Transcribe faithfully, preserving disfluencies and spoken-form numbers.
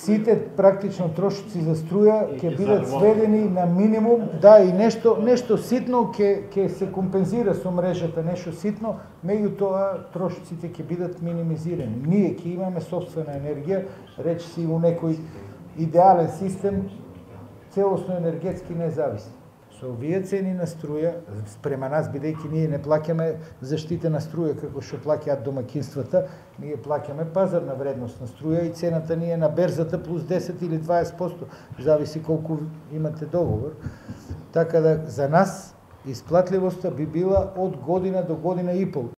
сите практично трошоци за струја ќе бидат сведени на минимум, да, и нешто нешто ситно ќе ќе се компензира со мрежата, нешто ситно, меѓутоа трошоците ќе бидат минимизирани. Ние ќе имаме сопствена енергија, речиси у некој идеален систем, целосно енергетски независни. Со овие цени на струја, спрема нас, бидејќи ние не плаќаме заштитена струја како што плаќаат домакинствата, ние плаќаме пазарна вредност на струја и цената ни е на берзата плюс десет или дваесет проценти, зависи колку имате договор. Така да за нас исплатливоста би била од година до година и пол.